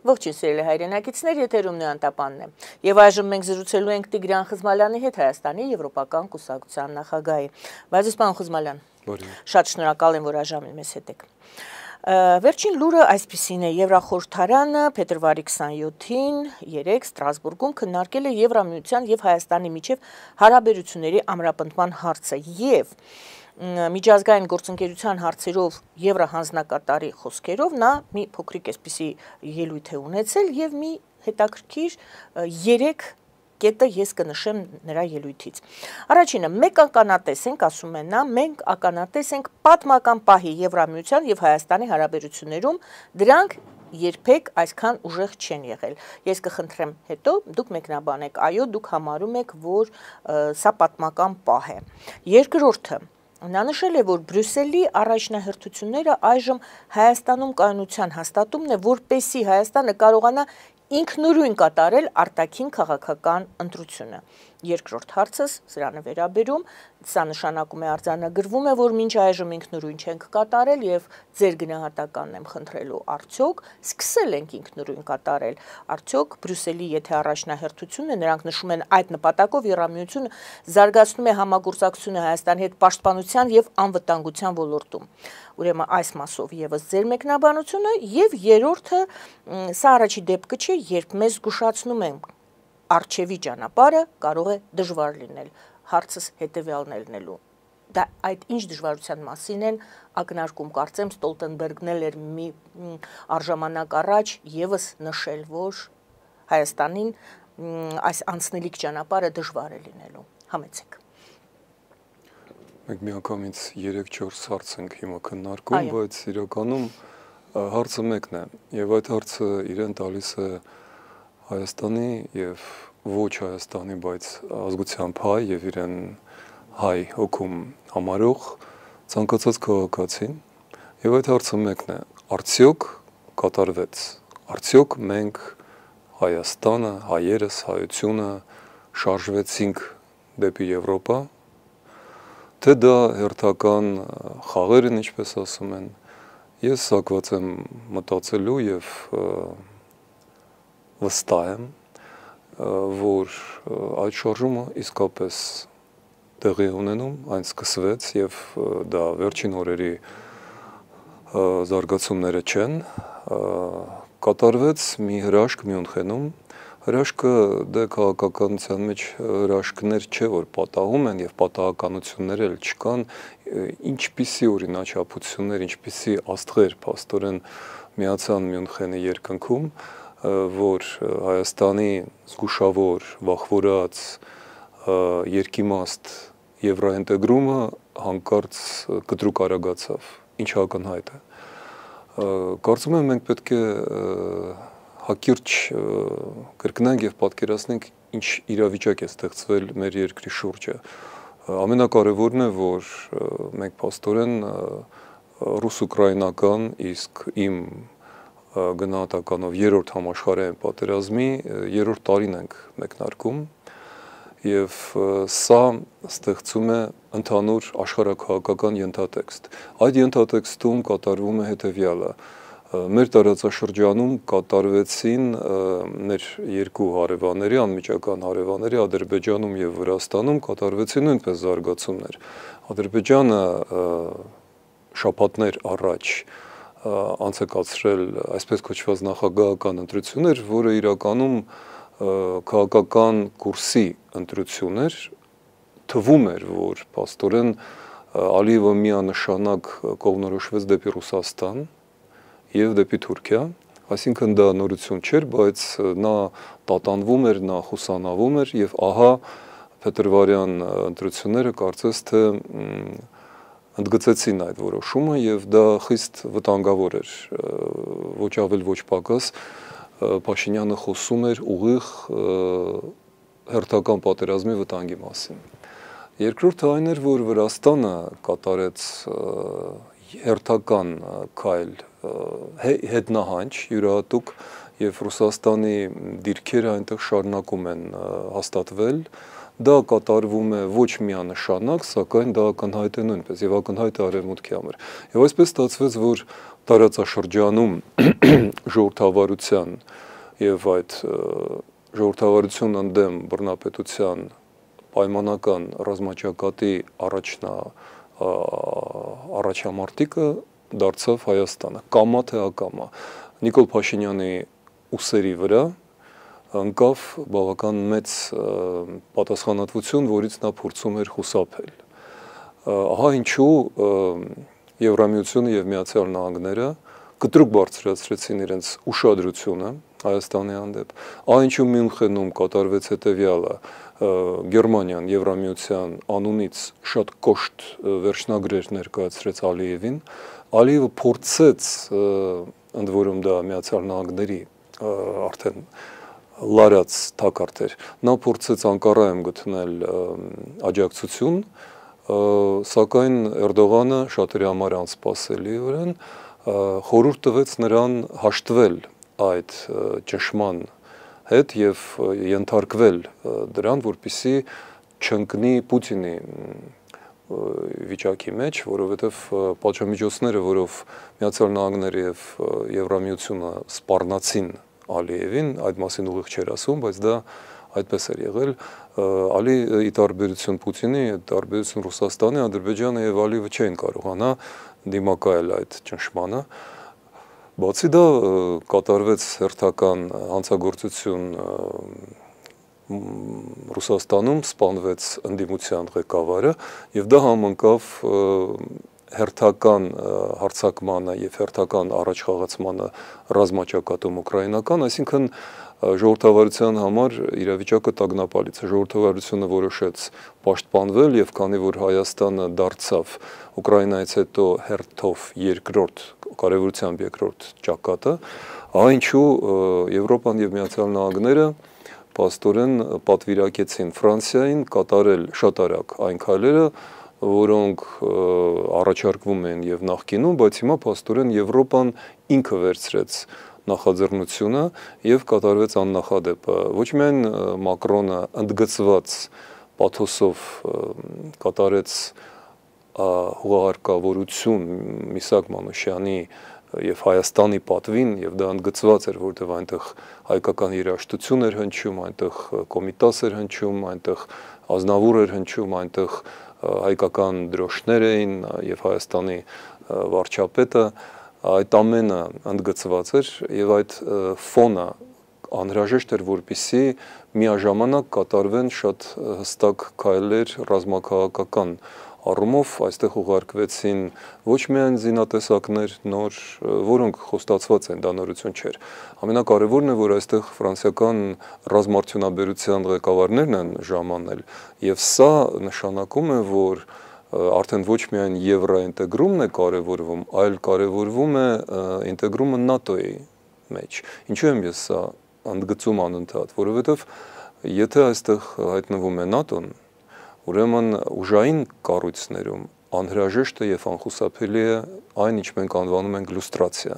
Ողջույն սիրելի հայրենակիցներ, եթերում Նոյանտապանն է։ Եվ այժմ մենք զրուցելու ենք Տիգրան Խզմալյանի հետ, Հայաստանի Եվրոպական կուսակցության նախագահի։ Բայց պարոն Խզմալյան, շատ շնորհակալ եմ, որ այժմ մեզ հետ եք։ Վերջին լուրը այսպիսին է. Եվրախորհրդարանը փետրվարի 27-ին երեկ Ստրասբուրգում քննարկել է Եվրամիության եւ Հայաստանի միջև հարաբերությունների ամրապնդման հարցը եւ միջազգային գործընկերության հարցերով Եվրահանձնակատարի խոսքերով նա մի փոքրիկ այսպիսի ելույթ է ունեցել եւ մի հետաքրքիր 3 կետը ես կնշեմ նրա ելույթից։ Առաջինը, մենք ականատես ենք, ասում է նա, մենք ականատես ենք պատմական պահի Եվրամիության եւ Հայաստանի հարաբերություններում, դրանք երբեք այսքան ուժեղ չեն եղել։ Ես կխնդրեմ հետո դուք մեկնաբանեք, այո, դուք համարում եք, որ սա պատմական պահ է։ Երկրորդը, նա նշել է, որ Բրյուսելի առաջնահերթությունները այժմ Հայաստանում կայունության հաստատումն է, որպեսզի Հայաստանը կարողանա ինքնուրույն կատարել արտաքին քաղաքական ընտրությունը։ Երկրորդ հարցս սրանը վերաբերում, սա նշանակում է արձանագրվում է, որ մինչ այժմ ինքնուրույն չենք կատարել եւ ձեր գնահատականն եմ խնդրելու, արդյոք սկսել ենք ինքնուրույն կատարել, արդյոք Բրյուսելի եթե առաջնահերթությունը, նրանք նշում են այդ նպատակով Եվրամիությունը զարգացնում է համագործակցությունը Հայաստանի հետ պաշտպանության եւ անվտանգության ոլորտում։ Ուրեմն այս մասով եւս ձեր մեկնաբանությունը եւ երրորդը սա առաջի դեպքը չէ, երբ մեզ զգուշացնում են արչեվի ճանապարհը կարող է դժվար լինել, հարցս հետեւյալն է լինելու։ Դա այդ ինչ դժվարության մասին են ակնարկում, կարծեմ Ստոլտենբերգն էր մի արժամանակ առաջ եւս նշել, որ Հայաստանին այս անցնելիք ճանապարհը դժվար է լինելու։ Համեցեք։ Մենք միանգամից 3-4 հարց ենք հիմա քննարկում, բայց իրականում հարցը մեկն է, եւ այդ հարցը իրեն տալիս է Հայաստանի եւ ոչ Հայաստանի, բայց ազգությամբ հայ եւ իրեն հայ հոգում համարող ցանկացած քաղաքացին, եւ այդ հարցը մեկն է. արդյոք կատարվեց, արդյոք մենք Հայաստանը, հայերս, հայությունը շարժվեցինք դեպի Եվրոպա, թե դա հերթական խաղեր են, ինչպես ասում են, ես սակված եմ մտածելու եւ վստահ եմ, որ այդ շարժումը իսկապես տեղի ունենում, այն սկսվեց եւ դա վերջին օրերի զարգացումները չեն, կատարվեց մի հրաշք Մյունխենում, հրաշքը դե քաղաքականության մեջ հրաշքներ չէ, որ պատահում են եւ պատահականություններ էլ չկան, ինչպիսի օրինաչափություններ, ինչպիսի աստղեր փաստորեն միացան Մյունխենի երկնքում, որ Հայաստանի զգուշավոր, վախվորած երկիմաստ եվրոինտեգրումը հանկարծ կտրուկ արագացավ, ինչ ակնհայտ է։ Կարծում եմ մենք պետք է հակիրճ կրկնենք եւ պատկերացնենք ինչ իրավիճակ է ստեղծվել մեր երկրի շուրջը։ Ամենակարևորն է, որ մենք փաստորեն ռուս-ուկրաինական, իսկ իմ գնահատականով երրորդ համաշխարհային պատերազմի երրորդ տարին ենք մեկնարկում եւ սա ստեղծում է ընդհանուր աշխարհաքաղաքական ենթատեքստ։ Այդ ենթատեքստում կատարվում է հետեւյալը. մեր տարածաշրջանում կատարվեցին մեր երկու հարևանների, անմիջական հարևանների Ադրբեջանում եւ Վրաստանում կատարվեցին նույնպես զարգացումներ։ Ադրբեջանը շաբաթներ առաջ անցկացրել այսպես կոչված նախագահական ընտրություններ, որը իրականում քաղաքական կուրսի ընտրություն էր, թվում էր, որ փաստորեն Ալիևը միանշանակ կողմնորոշվեց դեպի Ռուսաստան եւ դեպի Թուրքիա, այսինքն դա նորություն չէր, բայց նա տատանվում էր, նա խուսանավում էր եւ ահա փետրվարյան ընտրությունները կարծես թե ընդգծեցին այդ որոշումը եւ դա խիստ վտանգավոր էր, ոչ ավել ոչ պակաս Փաշինյանը խոսում էր ուղիղ հերթական պատերազմի վտանգի մասին։ Երկրորդը այն էր, որ Վրաստանը կատարեց հերթական քայլ հետնահանջ յուրահատուկ եւ Ռուսաստանի դիրքերը այնտեղ շարունակում են հաստատվել, դա կատարվում է ոչ միանշանակ, սակայն դա ակնհայտ է նույնպես եւ ակնհայտ է արևմուտքի համար։ Եվ այսպես ստացվեց, որ տարածաշրջանում ժողովրդավարության եւ այդ ժողովրդավարություն ընդդեմ բռնապետության պայմանական ռազմաճակատի առաջամարտիկը դարձավ Հայաստանը, կամա թե ակամա։ Նիկոլ Փաշինյանի ուսերի վրա ընկավ բավական մեծ պատասխանատվություն, որից նա փորձում էր խուսափել։ Ահա ինչու Եվրամիությունը եւ Միացյալ Նահանգները կտրուկ բարձրացրեցին իրենց ուշադրությունը Հայաստանի հանդեպ։ Ահա ինչու Մյունխենում կատարվեց հետևյալը. Գերմանիան Եվրամիության անունից շատ կոշտ վերջնագրեր ներկայացրեց Ալիևին։ Ալիևը փորձեց, ընդ որում դա Միացյալ Նահանգների արդեն լարած թակարդ էր, նա փորձեց Անկարայում գտնել աջակցություն, սակայն Էրդողանը շատերի համար անսպասելիորեն խորհուրդ տվեց նրան հաշտվել այդ ճնշման հետ եւ ենթարկվել դրան, որպեսզի չընկնի Պուտինի վիճակի մեջ, որովհետև պատժամիջոցները, որով Միացյալ Նահանգները եւ Եվրամիությունը սպառնացին Ալիևին, այդ մասին ուղիղ չէր ասում, բայց դա այդպես էր եղել։ Ալի ի տարբերություն Պուտինի, տարբերություն Ռուսաստանի, Ադրբեջանը եւ Ալիևը չէին կարողանա դիմակայել այդ ճնշմանը։ Բացի դա կատարվեց հերթական հանցագործություն Ռուսաստանում, սպանվեց ընդդիմության ղեկավարը եւ դա համընկավ հերթական հարձակմանը եւ հերթական առաջխաղացմանը ռազմաճակատում ուկրաինական, այսինքն ժողովրդավարության համար իրավիճակը տագնապալից է։ Ժողովրդավարությունը որոշեց պաշտպանվել եւ քանի որ Հայաստանը դարձավ Ուկրաինայից հետո հերթով երկրորդ կարևորությամբ երկրորդ ճակատը, ահա ինչու Եվրոպան եւ Միացյալ Նահանգները փաստորեն պատվիրակեցին Ֆրանսիային կատարել շատ արագ այն քայլերը, որոնք առաջարկվում են եւ նախկինում, բայց հիմա փաստորեն Եվրոպան ինքը վերցրեց նախաձեռնությունը եւ կատարվեց աննախադեպը։ Ոչ միայն Մակրոնը ընդգծված պաթոսով կատարեց հուղարկավորություն Միսակ Մանուշյանի եւ Հայաստանի պատվին եւ դա ընդգծված էր, որտեղ այնտեղ հայկական երաժշտություն էր հնչում, այնտեղ կոմիտաս էր հնչում, այնտեղ ազնավուր էր հնչում, այնտեղ հայկական դրոշներ էին եւ Հայաստանի վարչապետը, այդ ամենը ընդգծված էր եւ այդ ֆոնը անհրաժեշտ էր, որպեսզի միաժամանակ կատարվեն շատ հստակ քայլեր ռազմաքաղաքական առումով, այստեղ ուղարկվեցին ոչ միայն զինատեսակներ նոր, որոնք խոստացված են, դա նորություն չէր։ Ամենակարևորն է, որ այստեղ ֆրանսիական ռազմաարդյունաբերության ղեկավարներն են ժամանել, եւ սա նշանակում է, որ արդեն ոչ միայն եվրոինտեգրումն է կարևորվում, այլ կարևորվում է ինտեգրումը ՆԱՏՕ-ի մեջ։ Ինչու եմ ես սա ընդգծում անընդհատ, որովհետեւ եթե այստեղ հայտնվում է ՆԱՏՕ-ն, ուրեմն ուժային կառույցներում անհրաժեշտ է եւ անխուսափելի է այն, ինչ մենք անվանում ենք լուստրացիա։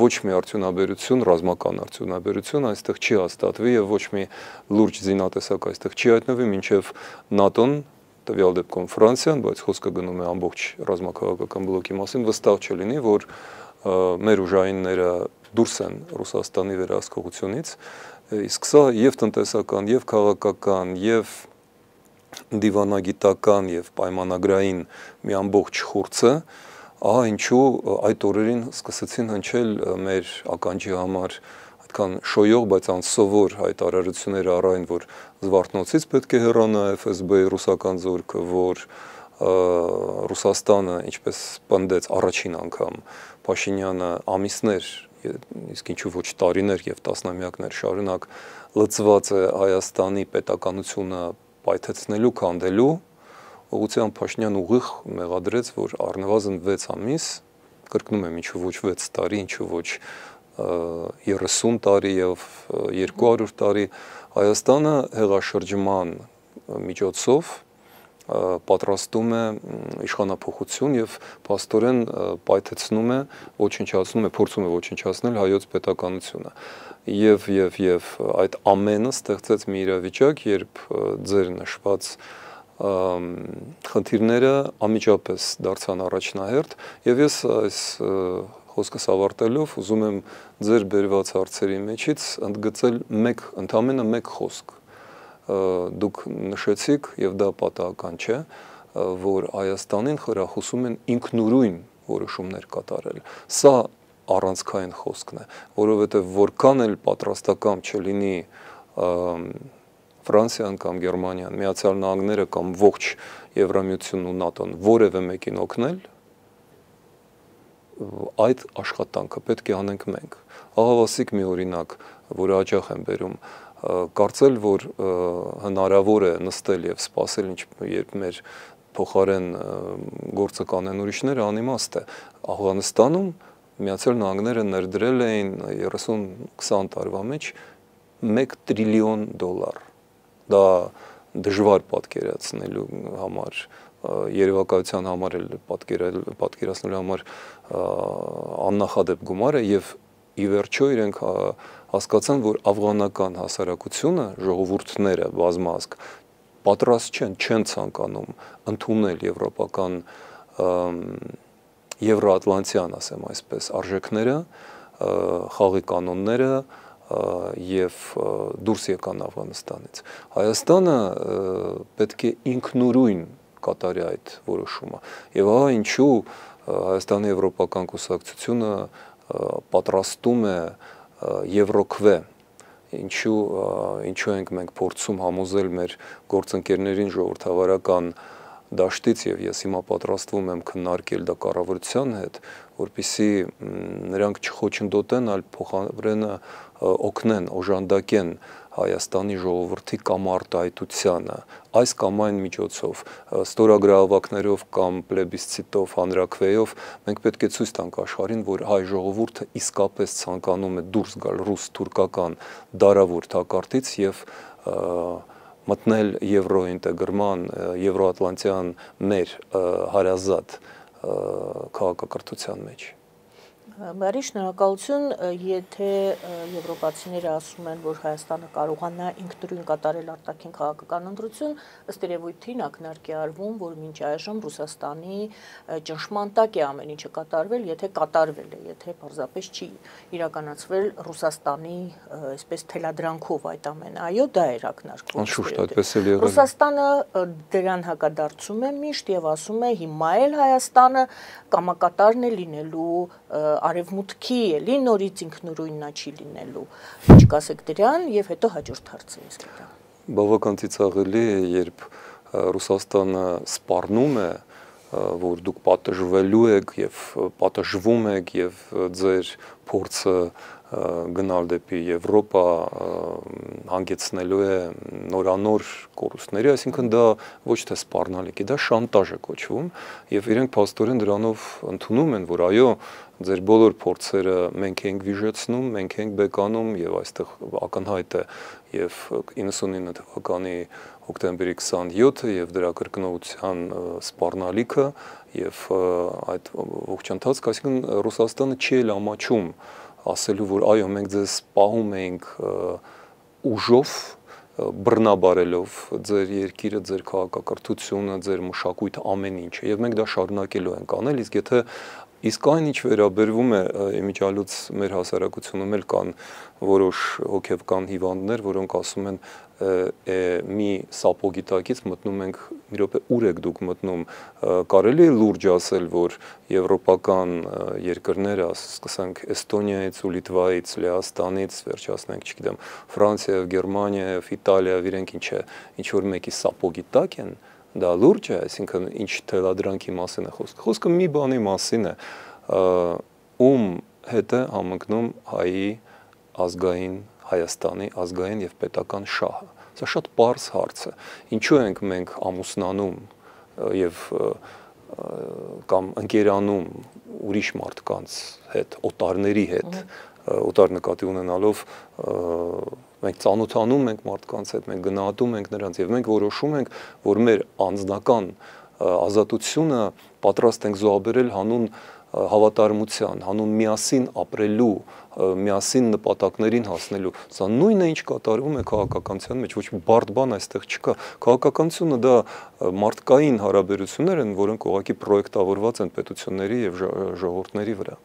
Ոչ մի արդյունաբերություն, ռազմական արդյունաբերություն այստեղ չի հաստատվի եւ ոչ մի լուրջ զինատեսակ այստեղ չի հայտնվի, մինչեւ ՆԱՏՕ-ն, տվյալ դեպքում Ֆրանսիան, բայց խոսքը գնում է ամբողջ ռազմաքաղաքական բլոկի մասին, վստահ չլինի, որ մեր ուժայինները դուրս են Ռուսաստանի վերահսկողությունից, իսկ սա եւ տնտեսական, եւ քաղաքական, եւ դիվանագիտական եւ պայմանագրային մի ամբողջ խուրձ է, ահա ինչու այդ օրերին սկսեցին հնչել մեր ականջի համար այդքան շոյող, բայց անսովոր հայտարարություններ առայն, որ Զվարթնոցից պետք է հեռանա FSB-ի ռուսական զորքը, որ Ռուսաստանը, ինչպես պնդեց առաջին անգամ Փաշինյանը ամիսներ, իսկ ինչու ոչ տարիներ եւ տասնամյակներ շարունակ լծված է Հայաստանի պետականությունը պայթեցնելու, քանդելու, ուղղությամբ Փաշինյան ուղիղ մեղադրեց, որ առնվազն 6 ամիս, կրկնում եմ, ինչու ոչ 6 տարի, ինչու ոչ 30 տարի եւ 200 տարի Հայաստանը հեղաշրջման միջոցով պատրաստում է իշխանափոխություն եւ փաստորեն պայթեցնում է, ոչնչացնում է, փորձում է ոչնչացնել հայոց պետականությունը։ եւ այդ ամենը ստեղծեց մի իրավիճակ, երբ ձեր նշված խնդիրները անմիջապես դարձան առաջնահերթ եւ ես այս խոսքս ավարտելով ուզում եմ ձեր բերված հարցերի մեջից ընդգծել ընդամենը մեկ խոսք դուք նշեցիք եւ դա պատահական չէ որ Հայաստանին խրախուսում են ինքնուրույն որոշումներ կատարել սա առանցքային խոսքն է որովհետեւ որքան էլ պատրաստական չլինի Ֆրանսիան կամ Գերմանիան, Միացյալ Նահանգները կամ ողջ Եվրամիությունն ու ՆԱՏՕ-ն որևէ մեկին օգնել, այդ աշխատանքը պետք է անենք մենք։ Ահավասիկ մի օրինակ, որը հաճախ եմ բերում, կարծել, որ հնարավոր է նստել եւ սպասել, երբ մեր փոխարեն գործը կանեն ուրիշները, անիմաստ է։ Աֆղանստանում Միացյալ Նահանգները ներդրել էին 30-20 տարվա մեջ $1 տրիլիոն դա դժվար պատկերացնելու համար երևակայության համար էլ պատկերացնելու համար աննախադեպ գումար է եւ ի վերջո իրենք հասկացան որ աֆղանական հասարակությունը ժողովուրդները բազմազգ պատրաստ չեն ցանկանում ընդունել եվրոպական եվրոատլանտյան ասեմ այսպես արժեքները խաղի կանոնները եւ դուրս եկան Աֆղանստանից Հայաստանը պետք է ինքնուրույն կատարի այդ որոշումը եւ ահա ինչու Հայաստանի եվրոպական կուսակցությունը պատրաստում է Եվրոքվե ինչու ենք մենք փորձում համոզել մեր գործընկերներին ժողովրդավարական դաշտից եւ ես հիմա պատրաստվում եմ քննարկել դա կառավարության հետ որպեսզի նրանք չխոչընդոտեն այլ փոխարենը օգնեն օժանդակեն Հայաստանի ժողովրդի կամ արտահայտությանը այս կամ այն միջոցով ստորագրահավաքներով կամ պլեբիսցիտով հանրաքվեով մենք պետք է ցույց տանք աշխարհին որ հայ ժողովուրդը իսկապես ցանկանում է դուրս գալ ռուս-թուրքական դարավոր թակարդից եւ մտնել եվրոինտեգրման եվրոատլանտյան մեր հարազատ քաղաքակրթության մեջ Բարի շնորհակալություն, եթե եվրոպացիները ասում են, որ Հայաստանը կարողանա ինքնուրույն կատարել արտաքին քաղաքական ընտրություն, ըստ երևույթին ակնարկ է արվում, որ մինչ այժմ Ռուսաստանի ճնշման տակ է ամեն ինչը կատարվել, եթե կատարվել է, եթե պարզապես չի իրականացվել Ռուսաստանի այսպես թելադրանքով այդ ամենը, այո, դա էր ակնարկվում։ Անշուշտ, այդպես էլ եղել է։ Ռուսաստանը դրան հակադարձում է միշտ եւ ասում է հիմա էլ Հայաստանը կամակատարն է լինելու արևմուտքի էլի նորից ինքնուրույննա չի լինելու։ Ինչ կասեք դրան եւ հետո հաջորդ հարցը ես կտամ։ Բավական ծիծաղելի է, երբ Ռուսաստանը սպառնում է, որ դուք պատժվելու եք եւ պատժվում եք եւ ձեր փորձը գնալ դեպի Եվրոպա հանգեցնելու է նորանոր կորուստների, այսինքն դա ոչ թե սպառնալիք է, դա շանտաժ է կոչվում եւ իրենք փաստորեն դրանով ընդունում են, որ այո, ձեր բոլոր փորձերը մենք ենք վիժեցնում, մենք ենք բեկանում եւ այստեղ ակնհայտ է եւ 99 թվականի հոկտեմբերի 27-ը եւ դրա կրկնողության սպառնալիքը եւ այդ ողջ ընթացքը, այսինքն Ռուսաստանը չի էլ ամաչում ասելու, որ այո, մենք ձեզ պահում ենք ուժով, բռնաբարելով ձեր երկիրը, ձեր քաղաքակրթությունը, ձեր մշակույթը, ամեն ինչը, եւ մենք դա շարունակելու ենք անել, իսկ եթե իսկ այն ինչ վերաբերվում է իմիջիալուց մեր հասարակությունում էլ կան որոշ հոգեվական հիվանդներ, որոնք ասում են մի սապոգի տակից մտնում ենք մի րոպե ուր եք դուք մտնում կարելի է լուրջ ասել որ եվրոպական երկրները սկսենք Էստոնիայից ու Լիտվայից Լեհաստանից վերջացնենք չգիտեմ Ֆրանսիա եւ Գերմանիա եւ Իտալիա իրենք ինչ որ մեկի սապոգի տակ են դա լուրջ է այսինքն ինչ թելադրանքի մասին է խոսքը մի բանի մասին է ում հետ է համընկնում հայի ազգային Հայաստանի ազգային եւ պետական շահը։ Սա շատ պարզ հարց է։ Ինչու ենք մենք ամուսնանում եւ կամ ընկերանում ուրիշ մարդկանց հետ, օտարների հետ, օտար նկատի ունենալով մենք ծանոթանում ենք մարդկանց հետ, մենք գնահատում ենք նրանց եւ մենք որոշում ենք, որ մեր անձնական ազատությունը պատրաստ ենք զոհաբերել հանուն հավատարմության, հանուն միասին ապրելու, միասին նպատակներին հասնելու, սա նույնը ինչ կատարվում է քաղաքականության մեջ, ոչ մի բարդ բան այստեղ չկա։ Քաղաքականությունը դա մարդկային հարաբերություններ են, որոնք ուղղակի պրոյեկտավորված են պետությունների եւ ժողովուրդների վրա։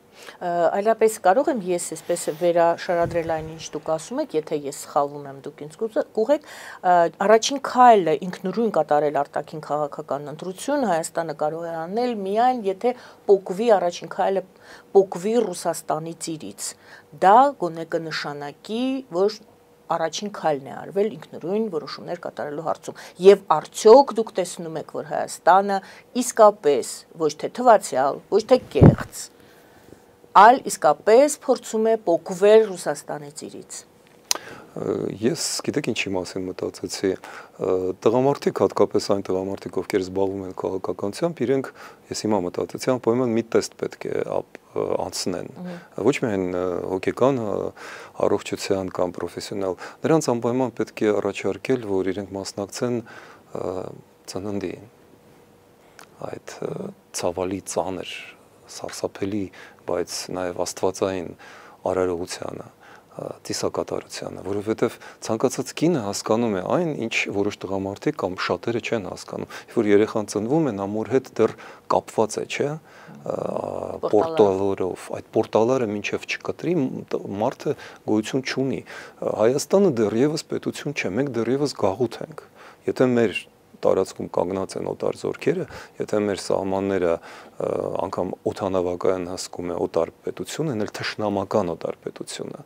Այլապես կարող եմ ես այսպես վերաշարադրել այն ինչ դուք ասում եք, եթե ես սխալվում եմ, դուք ինձ կուղեք, առաջին քայլը ինքնուրույն կատարել արտաքին քաղաքական ընտրություն Հայաստանը կարող է անել միայն եթե պոկվի առաջին քայլը պոկվի Ռուսաստանի ծիրից։ Դա գոնե կնշանակի, որ առաջին քայլն է արվել ինքնուրույն որոշումներ կատարելու հարցում։ Եվ արդյոք դուք տեսնում եք, որ Հայաստանը իսկապես ոչ թե թվացial, ոչ թե կեղծ, այլ իսկապես փորձում է պոկվել Ռուսաստանի ծիրից։ Ես գիտեք ինչի մասին մտածեցի, տղամարդիկ, հատկապես այն տղամարդիկ, ովքեր զբաղվում են քաղաքականությամբ, իրենք, ես հիմա մտածեցի, անպայման մի տեստ պետք է անցնեն, ոչ միայն հոգեկան առողջության կամ պրոֆեսիոնալ, նրանց անպայման պետք է առաջարկել, որ իրենք մասնակցեն ծննդի այդ ցավալի ծանր, սարսափելի, բայց նաև աստվածային արարողությանը, ծիսակատարությանը, որովհետև ցանկացած կինը հասկանում է այն, ինչ որոշ տղամարդիկ կամ շատերը չեն հասկանում, որ երեխան ծնվում է, նա մոր հետ դեռ կապված է, չէ, պորտալորով, այդ պորտալները մինչև չկտրի, մարդը գոյություն չունի։ Հայաստանը դեռևս պետություն չէ, մենք դեռևս գաղութ ենք։ Եթե մեր տարածքում կանգնած են օտար զորքերը, եթե մեր սահմանները անգամ օդանավակայան հսկում է օտար պետություն, են էլ թշնամական օտար պետությունը,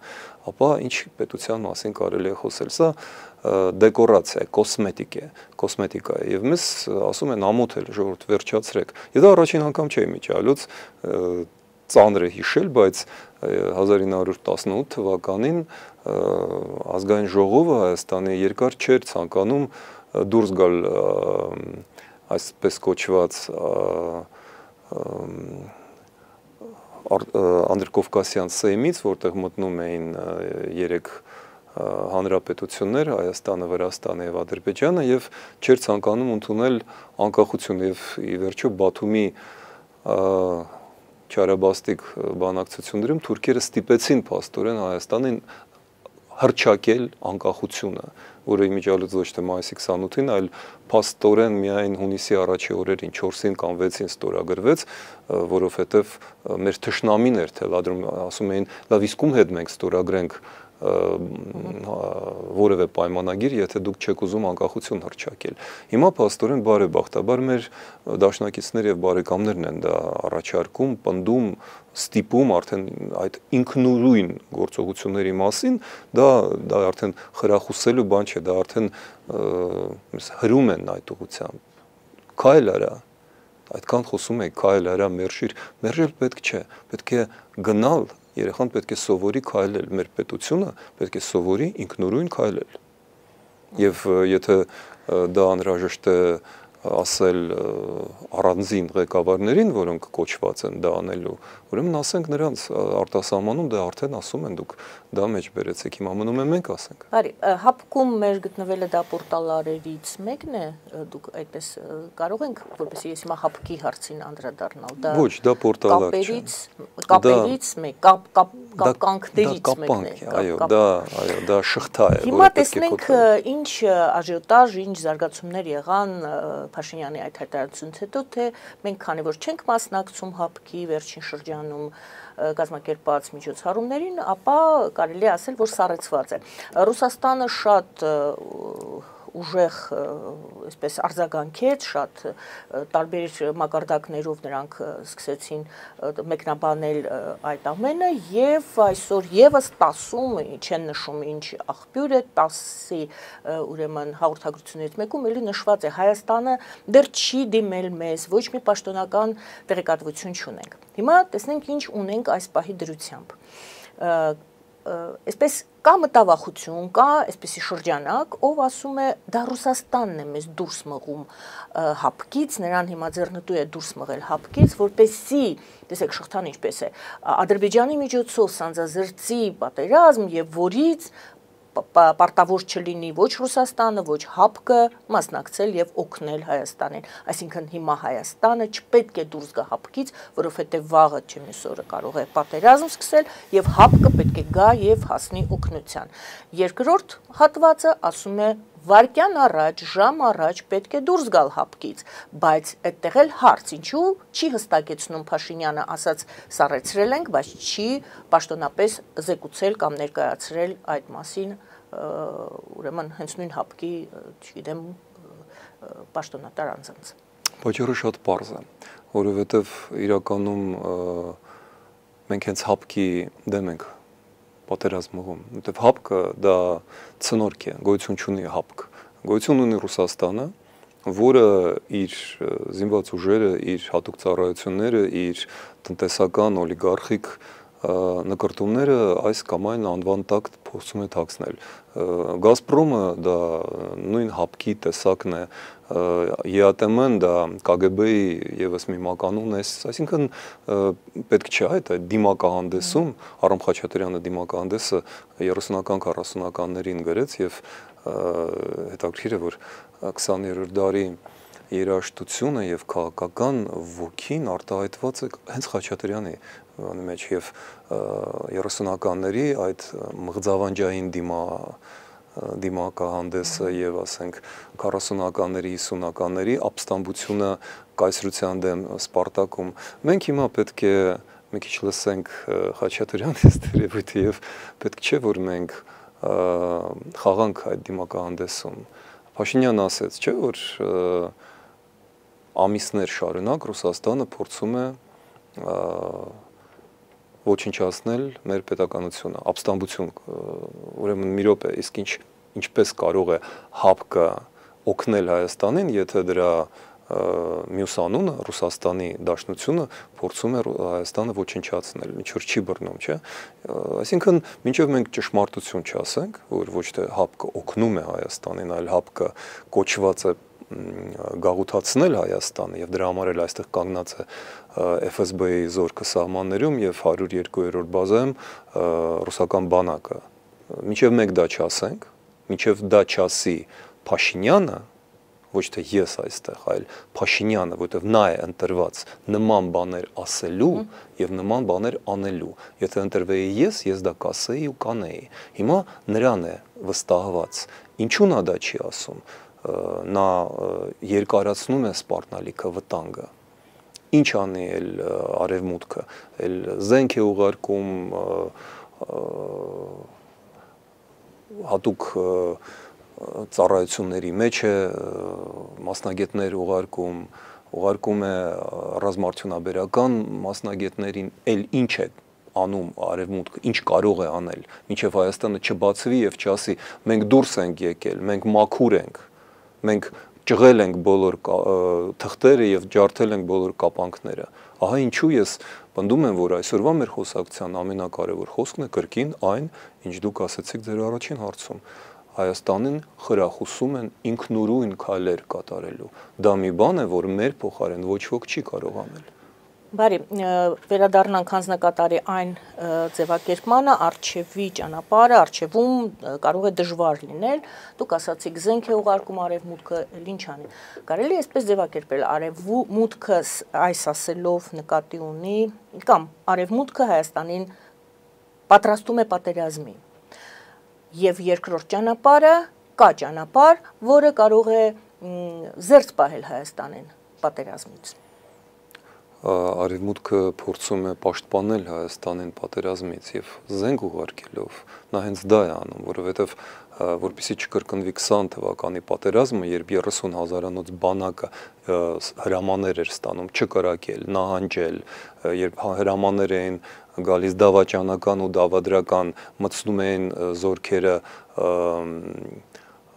ապա ինչ պետության մասին կարելի է խոսել, սա դեկորացիա է, կոսմետիկա է, եւ մեզ ասում են ամոթել, ժողովուրդ վերջացրեք։ Եվ դա առաջին անգամ չէ միջալուց ծանր է հիշել, բայց 1918 թվականին ազգային ժողովը Հայաստանի երկար չէր ցանկանում դուրս գալ այսպես կոչված անդրկովկասյան սեյմից, որտեղ մտնում էին երեք հանրապետություններ, Հայաստանը, Վրաստանը եւ Ադրբեջանը, եւ չէր ցանկանում ընդունել անկախություն եւ ի վերջո Բաթումի չարաբաստիկ բանակցություններում թուրքերը ստիպեցին փաստորեն Հայաստանին հռչակել անկախությունը, որը իմիջիալուց ոչ թե մայիսի 28-ին, այլ փաստորեն միայն հունիսի առաջի օրերին 4-ին կամ 6-ին ստորագրվեց, որովհետև մեր թշնամիներ թելադրում ասում էին, լավ իսկ ում հետ մենք ստորագրենք որևէ պայմանագիր, եթե դուք չեք ուզում անկախություն հռչակել։ Հիմա փաստորեն բարեբախտաբար մեր դաշնակիցներ եւ բարեկամներն են դա առաջարկում, պնդում, ստիպում արդեն այդ ինքնուրույն գործողությունների մասին, դա արդեն խրախուսելու բան չէ, դա արդեն հրում են այդ ուղղությամբ։ Քայլ արա, այդքան խոսում եք, քայլ արա, մերժել պետք չէ, պետք է գնալ, երեխան պետք է սովորի քայլել, մեր պետությունը պետք է սովորի ինքնուրույն քայլել։ Եվ եթե դա անհրաժեշտ է ասել առանձին ղեկավարներին, որոնք կոչված են դա անելու, ուրեմն ասենք նրանց արտասահմանում դա արդեն ասում են դուք դա մեջ բերեցեք, հիմա մնում է մենք ասենք։ Բարի, հապկում մեր գտնվելը դա պորտալարերից մեկն է, դուք այդպես կարող ենք, որպեսզի ես հիմա հապկի հարցին անդրադառնալ, դա ոչ, դա պորտալար չէ։ Կապերից մեկ, կապկանքներից մեկն է։ Այո, դա շղթա է, Հիմա տեսնենք ինչ աժիոտաժ, ինչ զարգացումներ եղան Փաշինյանի այդ հայտարարությունից հետո, թե մենք քանի որ չենք մասնակցում հապկի վերջին շրջանում կազմակերպած միջոցառումներին, ապա կարելի է ասել, որ սառեցված է։ Ռուսաստանը շատ ուժեղ այսպես արձագանքեց, շատ տարբեր մակարդակներով նրանք սկսեցին մեկնաբանել այդ ամենը եւ այսօր եւս 10-ում չեն նշում ինչ աղբյուր է 10-ի ուրեմն հաղորդագրություններից մեկում էլի նշված է Հայաստանը դեռ չի դիմել մեզ, ոչ մի պաշտոնական տեղեկատվություն չունենք։ Հիմա տեսնենք ինչ ունենք այս պահի դրությամբ։ Այսպես կա մտավախություն, կա այսպեսի շրջանակ, ով ասում է դա Ռուսաստանն է մեզ դուրս մղում հապկից, նրան հիմա ձեռնտու է դուրս մղել հապկից, որպեսզի, տեսեք շղթան ինչպես է, Ադրբեջանի միջոցով սանձազերծի պատերազմ եւ որից պարտավոր չլինի ոչ Ռուսաստանը, ոչ ՀԱՊԿ-ը մասնակցել եւ օգնել Հայաստանին։ Այսինքն հիմա Հայաստանը չպետք է դուրս գա ՀԱՊԿ-ից, որովհետեւ վաղը չէ մյուս օրը կարող է պատերազմ սկսել եւ ՀԱՊԿ-ը պետք է գա եւ հասնի օգնության։ Երկրորդ հատվածը ասում է վարկյան առաջ, ժամ առաջ պետք է դուրս գալ ՀԱՊԿ-ից, բայց այդտեղ էլ հարց, ինչու չի հստակեցնում Փաշինյանը ասած սառեցրել ենք, բայց չի պաշտոնապես զեկուցել կամ ներկայացրել այդ մասին, ուրեմն հենց նույն ՀԱՊԿ-ի, չգիտեմ, պաշտոնատար անձանց։ Պատճառը շատ պարզ է, որովհետև իրականում մենք հենց ՀԱՊԿ-ի դեմ ենք պատերազմում, որտեղ ՀԱՊԿ-ը դա ցնորք է, գոյություն չունի ՀԱՊԿ, գոյություն ունի Ռուսաստանը, որը իր զինված ուժերը, իր հատուկ ծառայությունները, իր տնտեսական օլիգարխիկ նկրտումները այս կամ այն անվան տակ փորձում է թաքցնել։ Գազպրոմը դա նույն ՀԱՊԿ-ի տեսակն է, ԵԱՏՄ-ն դա ԿԳԲ-ի եւս մի մականուն է, այսինքն պետք չէ այդ դիմակահանդեսում Արամ Խաչատրյանը դիմակահանդեսը 30-ական 40-ականներին գրեց եւ հետաքրքիր է որ 20-րդ դարի երաժշտությունը եւ քաղաքական ոգին արտահայտված է հենց Խաչատրյանի մեջ եւ 30-ականների այդ մղձավանջային դիմակահանդեսը եւ ասենք 40-ականների 50-ականների ապստամբությունը կայսրության դեմ Սպարտակում մենք հիմա պետք է մի քիչ լսենք Խաչատրյանի ստերեոտիպը եւ պետք չէ որ մենք խաղանք այդ դիմակահանդեսում Փաշինյանը ասեց չէ որ ամիսներ շարունակ Ռուսաստանը փորձում է ոչնչացնել մեր պետականությունը, ապստամբություն, ուրեմն մի րոպե, իսկ ինչպես կարող է ՀԱՊԿ-ը օգնել Հայաստանին, եթե դրա մյուս անունը Ռուսաստանի Դաշնությունը փորձում է Հայաստանը ոչնչացնել, ինչ որ չի բռնում, չէ՞։ Այսինքն, մինչև մենք ճշմարտություն չասենք, որ ոչ թե ՀԱՊԿ-ը օգնում է Հայաստանին, այլ ՀԱՊԿ-ը կոչված է գաղութացնել Հայաստանը եւ դրա համար էլ այստեղ կանգնած է FSB-ի զորքը սահմաններում եւ 102-րդ բազայում ռուսական բանակը։ Մինչև մենք դա չասենք, մինչև դա չասի Փաշինյանը, ոչ թե ես այստեղ, այլ Փաշինյանը, որովհետև նա է ընտրված նման բաներ ասելու եւ նման բաներ անելու։ Եթե ընտրվեի ես դա կասեի ու կանեի։ Հիմա նրան է վստահված։ Ինչու նա դա չի ասում։ Նա երկարացնում է սպառնալիքը վտանգը։ Ինչ անի էլ արևմուտքը, էլ զենք է ուղարկում հատուկ ծառայությունների մեջ է մասնագետներ ուղարկում է ռազմարդյունաբերական մասնագետներին, էլ ինչ է անում արևմուտքը, ինչ կարող է անել, մինչև Հայաստանը չբացվի եւ չասի մենք դուրս ենք եկել, մենք մաքուր ենք, մենք ճղել ենք բոլոր թղթերը եւ ջարդել ենք բոլոր կապանքները։ Ահա ինչու ես պնդում եմ, որ այսօրվա մեր խոսակցության ամենակարևոր խոսքն է կրկին այն, ինչ դուք ասացիք ձեր առաջին հարցում։ Հայաստանին խրախուսում են ինքնուրույն քայլեր կատարելու։ Դա մի բան է, որ մեր փոխարեն ոչ ոք չի կարող անել։ Բարի, վերադառնանք հանձնակատարի այն ձևակերպմանը, արչևի ճանապարհը, արչևում կարող է դժվար լինել։ Դուք ասացիք զենք է ուղարկում արևմուտքը, ինչ անի։ Կարելի է այսպես ձևակերպել, արևմուտքը այս ասելով նկատի ունի, կամ արևմուտքը Հայաստանին պատրաստում է պատերազմի։ Եվ երկրորդ ճանապարհը կա ճանապարհ, որը կարող է զերծ պահել Հայաստանին պատերազմից։ Արևմուտքը փորձում է պաշտպանել Հայաստանին պատերազմից եւ զենք ուղարկելով նա հենց դա է անում, որովհետեւ որպեսզի չկրկնվի 20 թվականի պատերազմը, երբ 30,000-անոց բանակը հրամաններ էր ստանում չկրակել, նահանջել, երբ հրամաններ էին գալիս դավաճանական ու դավադրական, մտցնում էին զորքերը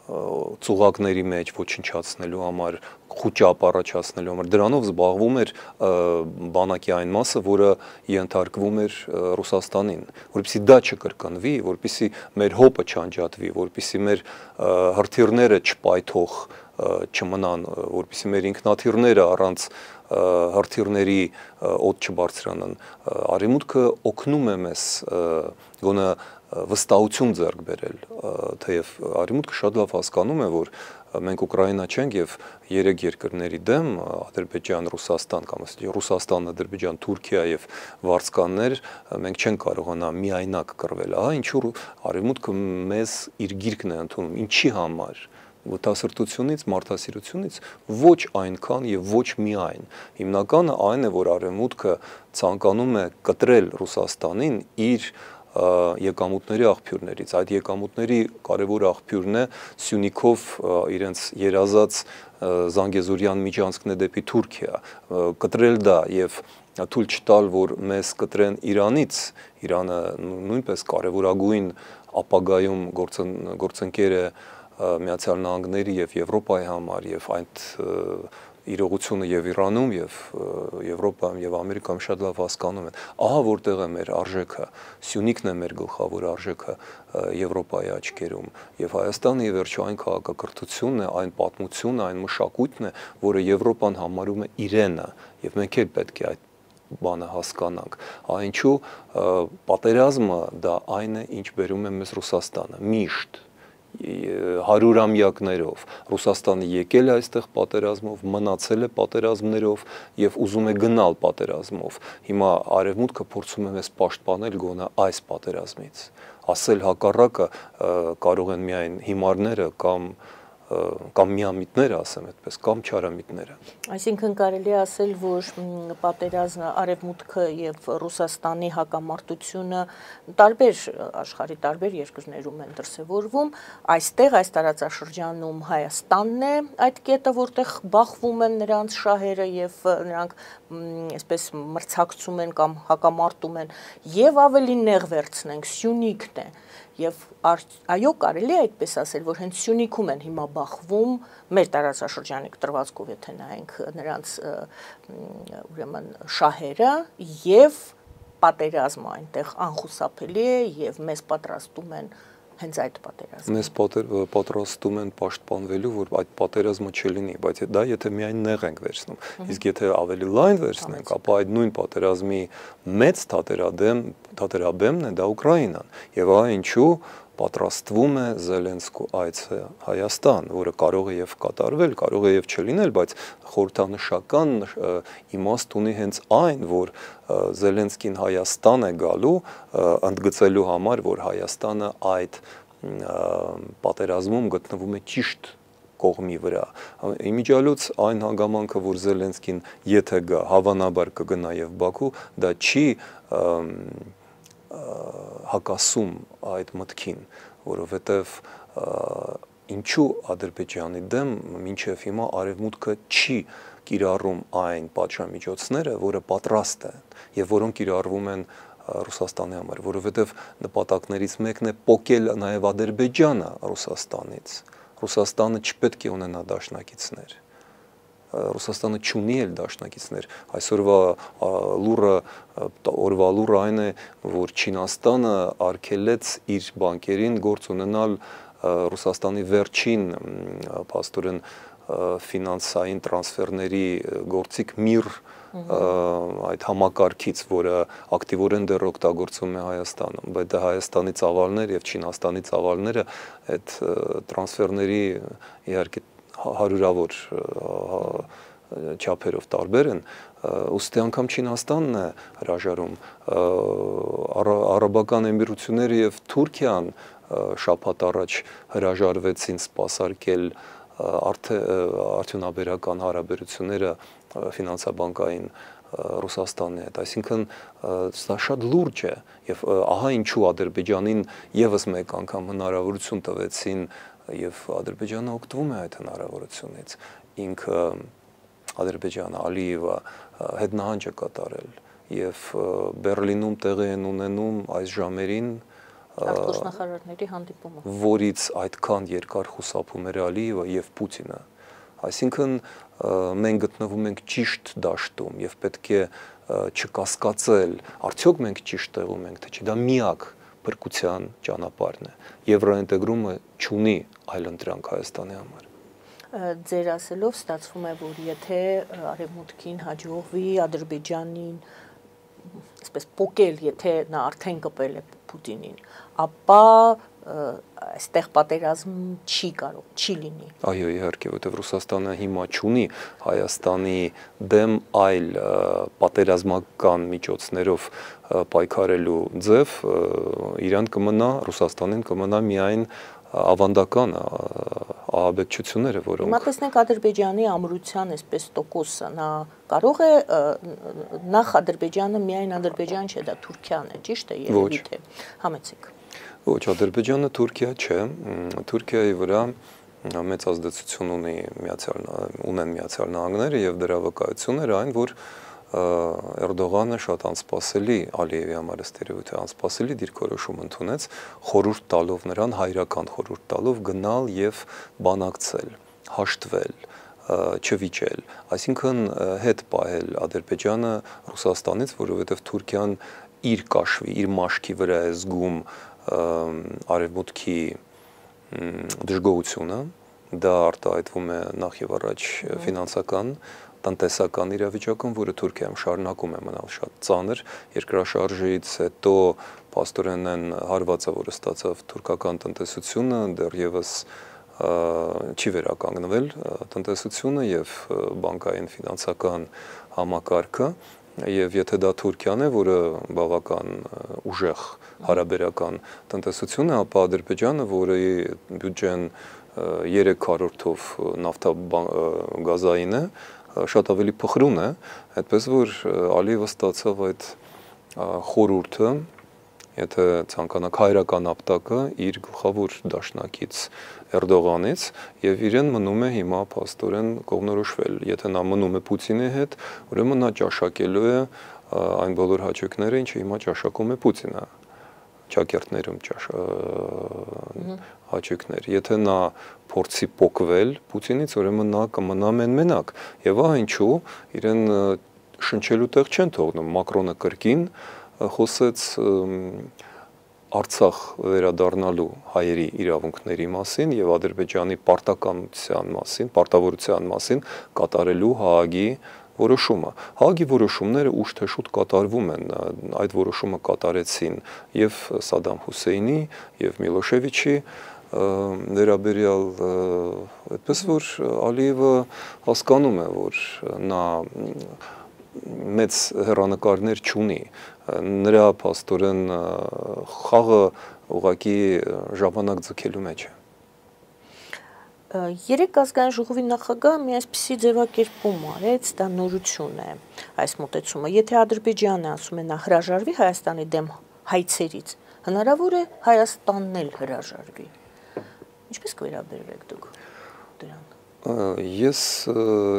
ծուղակների մեջ ոչնչացնելու համար, խուճապ առաջացնելու համար, դրանով զբաղվում էր բանակի այն մասը, որը ենթարկվում էր Ռուսաստանին, որպեսզի դա չկրկնվի, որպեսզի մեր հոպը չանջատվի, որպեսզի մեր հրթիռները չպայթող չմնան, որպեսզի մեր ինքնաթիռները առանց հրթիռների օդ չբարձրանան։ Արևմուտքը օգնում է մեզ գոնե վստահություն ձեռք բերել, թեև Արևմուտքը շատ լավ հասկանում է, որ մենք Ուկրաինա չենք եւ 3 երկրների դեմ Ադրբեջան, Ռուսաստան կամ Ռուսաստան, Ադրբեջան, Թուրքիա եւ վարձկաններ մենք չենք կարողանա միայնակ կռվել։ Ահա ինչու Արևմուտքը մեզ իր գիրկն է ընդունում, ինչի համար ոտասրտությունից, մարդասիրությունից ոչ այնքան եւ ոչ միայն։ Հիմնականը այն է, որ Արևմուտքը ցանկանում է կտրել Ռուսաստանին իր եկամուտների աղբյուրներից։ Այդ եկամուտների կարևոր աղբյուրն է Սյունիքով իրենց երազած Զանգեզուրյան միջանցքն է դեպի Թուրքիա, կտրել դա եւ թույլ չտալ, որ մեզ կտրեն Իրանից, Իրանը նույնպես կարևորագույն ապագայում գործընկեր է Միացյալ Նահանգների եւ Եվրոպայի համար եւ այդ իրողությունը եւ Իրանում եւ Եվրոպայում եւ Ամերիկայում շատ լավ հասկանում են։ Ահա որտեղ է մեր արժեքը, Սյունիքն է մեր գլխավոր արժեքը Եվրոպայի աչքերում եւ Հայաստանը ի վերջո այն քաղաքակրթությունն է, այն պատմությունը, այն մշակույթն է, որը Եվրոպան համարում է իրենը եւ մենք էլ պետք է այդ բանը հասկանանք։ Այնչու պատերազմը դա այն է, ինչ բերում է մեզ Ռուսաստանը միշտ հարյուրամյակներով Ռուսաստանը եկել է այստեղ պատերազմով, մնացել է պատերազմներով եւ ուզում է գնալ պատերազմով։ Հիմա Արևմուտքը փորձում է մեզ պաշտպանել գոնե այս պատերազմից։ Ասել հակառակը կարող են միայն հիմարները կամ միամիտները, ասեմ այդպես, կամ չարամիտները։ Այսինքն կարելի է ասել, որ պատերազմը Արևմուտքը եւ Ռուսաստանի հակամարտությունը տարբեր աշխարհի տարբեր երկրներում են դրսևորվում, այստեղ այս տարածաշրջանում Հայաստանն է այդ կետը, որտեղ բախվում են նրանց շահերը եւ նրանք այսպես մրցակցում են կամ հակամարտում են, եւ ավելի նեղ վերցնենք Սյունիքն է։ Եվ այո, կարելի է այդպես ասել, որ հենց Սյունիքում են հիմա բախվում մեր տարածաշրջանի կտրվածքով, եթե նայենք նրանց ուրեմն շահերը եւ պատերազմը այնտեղ անխուսափելի է եւ մեզ պատրաստում են հենց այդ պատերազմը։ Մեզ պատրաստում են պաշտպանվելու, որ այդ պատերազմը չլինի, բայց դա եթե միայն նեղ ենք վերցնում։ Իսկ եթե ավելի լայն վերցնենք, ապա այդ նույն պատերազմի մեծ թատերաբեմն է դա Ուկրաինան։ Եվ ահա ինչու պատրաստվում է Զելենսկու այցը Հայաստան, որը կարող է եւ կատարվել, կարող է եւ չլինել, բայց խորհրդանշական իմաստ ունի հենց այն, որ Զելենսկին Հայաստան է գալու ընդգծելու համար, որ Հայաստանը այդ պատերազմում գտնվում է ճիշտ կողմի վրա։ Իմիջիալոց այն հանգամանքը, որ Զելենսկին եթե գա, հավանաբար կգնա եւ Բաքու, դա չի հակասում այդ մտքին, որովհետև ինչու Ադրբեջանի դեմ մինչև հիմա Արևմուտքը չի կիրառում այն պատժամիջոցները, որը պատրաստ է եւ որոնք կիրառվում են Ռուսաստանի համար, որովհետև նպատակներից մեկն է պոկել նաեւ Ադրբեջանը Ռուսաստանից։ Ռուսաստանը չպետք է ունենա դաշնակիցներ։ Ռուսաստանը չունի էլ դաշնակիցներ։ Այսօրվա լուրը այն է, որ Չինաստանը արգելեց իր բանկերին գործ ունենալ Ռուսաստանի վերջին փաստորեն ֆինանսային տրանսֆերների գործիք MIR այդ համակարգից, որը ակտիվորեն դեռ օգտագործվում է Հայաստանում, բայց դա Հայաստանի ծավալներ եւ Չինաստանի ծավալները այդ տրանսֆերների իհարկե հարյուրավոր չափերով տարբեր են, ուստի անգամ Չինաստանն է հրաժարում, Արաբական Էմիրությունները եւ Թուրքիան շաբաթ առաջ հրաժարվեցին սպասարկել արդյունաբերական հարաբերությունները ֆինանսաբանկային Ռուսաստանի հետ, այսինքն դա շատ լուրջ է եւ ահա ինչու Ադրբեջանին եւս մեկ անգամ հնարավորություն տվեցին եւ Ադրբեջանը օգտվում է այդ հնարավորությունից։ Ինքը Ադրբեջանը Ալիևը հետնահանջ է կատարել եւ Բերլինում տեղի են ունենում այս ժամերին արտգործնախարարների հանդիպումը, որից այդքան երկար խուսափում էր Ալիևը եւ Պուտինը։ Այսինքն մենք գտնվում ենք ճիշտ դաշտում եւ պետք է չկասկածել, արդյոք մենք ճիշտ տեղում ենք, թե չէ, դա միակ փրկության ճանապարհն է։ Եվրոինտեգրումը չունի այլընտրանք Հայաստանի համար։ Ձեր ասելով ստացվում է, որ եթե Արևմուտքին հաջողվի Ադրբեջանին այսպես պոկել, եթե նա արդեն կպել է Պուտինին, ապա այստեղ պատերազմ չի լինի։ Այո, իհարկե, որտեղ Ռուսաստանը հիմա չունի Հայաստանի դեմ այլ պատերազմական միջոցներով պայքարելու ձև, իրան կմնա, Ռուսաստանին կմնա միայն ավանդական ահաբեկչությունները, որոնք Հիմա տեսնենք Ադրբեջանի ամրության այսպես տոկոսը, նա կարող է նախ Ադրբեջանը միայն Ադրբեջան չէ, դա Թուրքիան է, ճիշտ է, երևի թե համեցեք։ Ոչ, Ադրբեջանը Թուրքիա չէ, Թուրքիայի վրա մեծ ազդեցություն ունեն Միացյալ Նահանգները եւ դրա վկայությունները այն, որ Էրդողանը շատ անսպասելի, Ալիևի համար ստերեոտիպ անսպասելի դիրքորոշում ընդունեց, խորհուրդ տալով նրան, հայրական խորհուրդ տալով գնալ եւ բանակցել, հաշտվել, չվիճել, այսինքն հետ պահել Ադրբեջանը Ռուսաստանից, որովհետեւ Թուրքիան իր կաշվի, իր մաշկի վրա է զգում արևմուտքի դժգոհությունը, դա արտահայտվում է նախ եւ առաջ ֆինանսական տնտեսական իրավիճակում, որը Թուրքիայում շարունակում է մնալ շատ ծանր, երկրաշարժից հետո փաստորեն այն հարվածը, որը ստացավ թուրքական տնտեսությունը, դեռևս չի վերականգնվել տնտեսությունը եւ բանկային ֆինանսական համակարգը, եւ եթե դա Թուրքիան է, որը բավական ուժեղ հարաբերական տնտեսություն է, ապա Ադրբեջանը, որի բյուջեն 3/4-ով նավթագազային է, շատ ավելի փխրուն է, այդպես որ Ալիևը ստացավ այդ խորհուրդը, եթե ցանկանաք հայրական ապտակը իր գլխավոր դաշնակից Էրդողանից եւ իրեն մնում է հիմա փաստորեն կողմնորոշվել, եթե նա մնում է Պուտինի հետ, ուրեմն նա ճաշակելու է այն բոլոր հաճույքները, ինչը հիմա ճաշակում է Պուտինը, ճակերտներում հաճույքներ, եթե նա փորձի փոկվել Պուտինից, ուրեմն նա կմնա մենակ եւ ահա ինչու իրեն շնչելու տեղ չեն թողնում, Մակրոնը կրկին խոսեց Արցախ վերադառնալու հայերի իրավունքների մասին եւ Ադրբեջանի պարտականության մասին, պարտավորության մասին կատարելու Հաագի որոշումը։ Հաագի որոշումները ուշ թե շուտ կատարվում են, այդ որոշումը կատարեցին եւ Սադամ Հուսեյնի եւ Միլոշևիչի վերաբերյալ, այդպես որ Ալիևը հասկանում է, որ նա մեծ հեռանկարներ չունի, նրա փաստորեն խաղը ուղղակի ժամանակ ձգելու մեջ է։ Երեք ազգային ժողովի նախագահը մի այսպիսի ձևակերպում արեց, դա նորություն է այս մոտեցումը, եթե Ադրբեջանը ասում է նա հրաժարվի Հայաստանի դեմ հայցերից, հնարավոր է Հայաստանն էլ հրաժարվի։ Ինչպես կվերաբերվեք դուք դրան։ Ես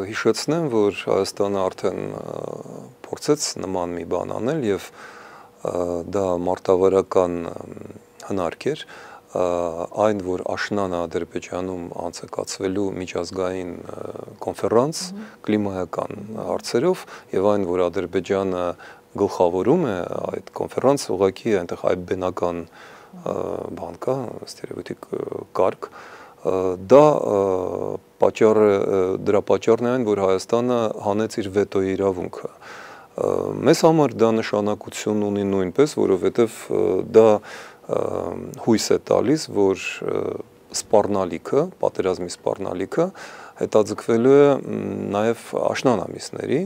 հիշեցնեմ, որ Հայաստանը արդեն փորձեց նման մի բան անել եւ դա մարտավարական հնարք էր, այն որ աշնանը Ադրբեջանում անցկացվելու միջազգային կոնֆերանս կլիմայական հարցերով եւ այն որ Ադրբեջանը գլխավորում է այդ կոնֆերանսը, ուղղակի այնտեղ այլ բնական բան կա, ստերեոտիպ կարգ, դա դրա պատճառն է այն, որ Հայաստանը հանեց իր վետոյի իրավունքը։ Մեզ համար դա նշանակություն ունի նույնպես, որովհետև դա հույս է տալիս, որ սպառնալիքը, պատերազմի սպառնալիքը հետաձգվելու է նաև աշնան ամիսների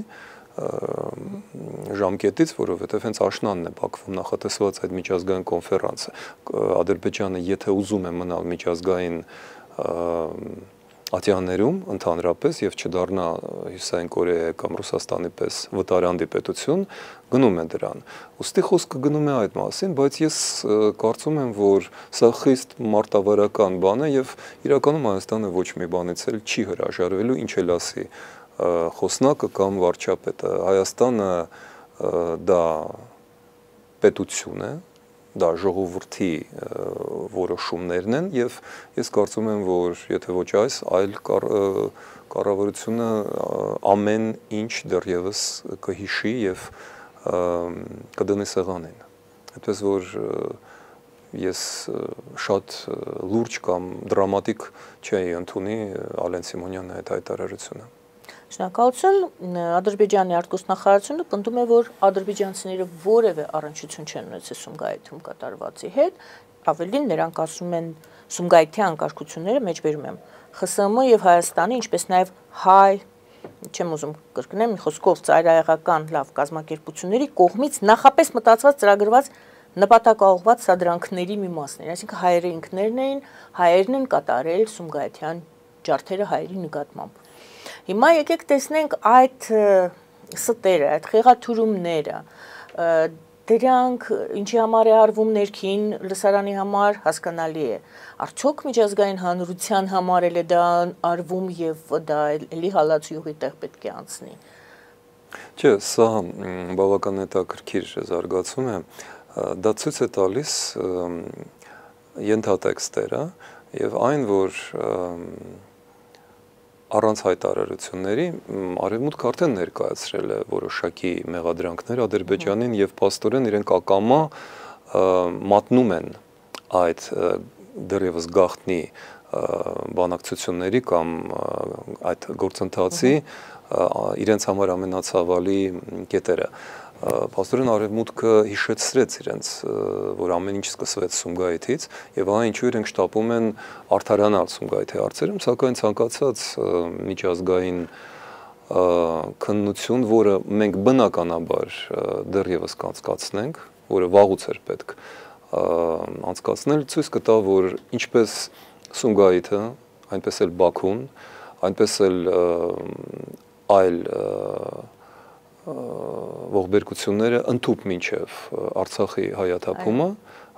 ժամկետից, որովհետև հենց աշնանն է Բաքվում նախատեսված այդ միջազգային կոնֆերանսը։ Ադրբեջանը եթե ուզում է մնալ միջազգային ատյաններում ընդհանրապես եւ չդառնա Հյուսիսային Կորեայի կամ Ռուսաստանի պես վտարանդի պետություն, գնում է դրան։ Ոստի խոսքը գնում է այդ մասին, բայց ես կարծում եմ, որ սա խիստ մարտավարական բան է եւ իրականում Հայաստանը ոչ մի բանից էլ չի հրաժարվելու, ինչ էլ ասի խոսնակը կամ վարչապետը։ Հայաստանը դա պետություն է, դա ժողովրդի որոշումներն են եւ ես կարծում եմ, որ եթե ոչ այս, այլ կառավարությունը ամեն ինչ դեռևս կհիշի եւ կդնի սեղանին։ Այդպես որ ես շատ լուրջ կամ դրամատիկ չէի ընդունի Ալեն Սիմոնյանի այդ հայտարարությունը։ Շնորհակալություն, Ադրբեջանի արտգործնախարարությունը պնդում է, որ ադրբեջանցիները որևէ առնչություն չեն ունեցել Սումգայիթում կատարվածի հետ, ավելին նրանք ասում են Սումգայիթի անկարգությունները մեջբերում եմ ԽՍՀՄ եւ Հայաստանի, ինչպես նաեւ հայ, չեմ ուզում կրկնեմ, մի խոսքով ծայրահեղական լավ կազմակերպությունների կողմից նախապես մտածված ծրագրված նպատակաուղղված սադրանքների մի մասն էր, այսինքն հայերը ինքներն էին, հայերն են կատարել Սումգայիթյան ջարդերը հայերի նկատմամբ։ Հիմա եկեք տեսնենք այդ ստերը, այդ խեղաթյուրումները, դրանք ինչի համար է արվում ներքին լսարանի համար հասկանալի է։ Արդյոք միջազգային հանրության համար էլ է դա արվում եւ դա էլի հալածյուղի տեղ պետք է անցնի։ Չէ, սա բավական հետաքրքիր զարգացում է, դա ցույց է տալիս ենթատեքստերը եւ այն, որ առանց հայտարարությունների Արևմուտքը արդեն ներկայացրել է որոշակի մեղադրանքներ Ադրբեջանին եւ փաստորեն իրենք ակամա մատնում են այդ դեռևս գաղտնի բանակցությունների կամ այդ գործընթացի իրենց համար ամենացավալի կետերը։ Փաստորեն Արևմուտքը հիշեցրեց իրենց, որ ամեն ինչ սկսվեց Սումգայիթից եւ ահա ինչու իրենք շտապում են արդարանալ Սումգայիթի հարցերում, սակայն ցանկացած միջազգային քննություն, որը մենք բնականաբար դեռևս կանցկացնենք, որը վաղուց էր պետք անցկացնել, ցույց կտա, որ ինչպես Սումգայիթը, այնպես էլ Բաքուն, այնպես էլ այլ ողբերգությունները ընդཐུպ մինչև Արցախի հայաթափումը,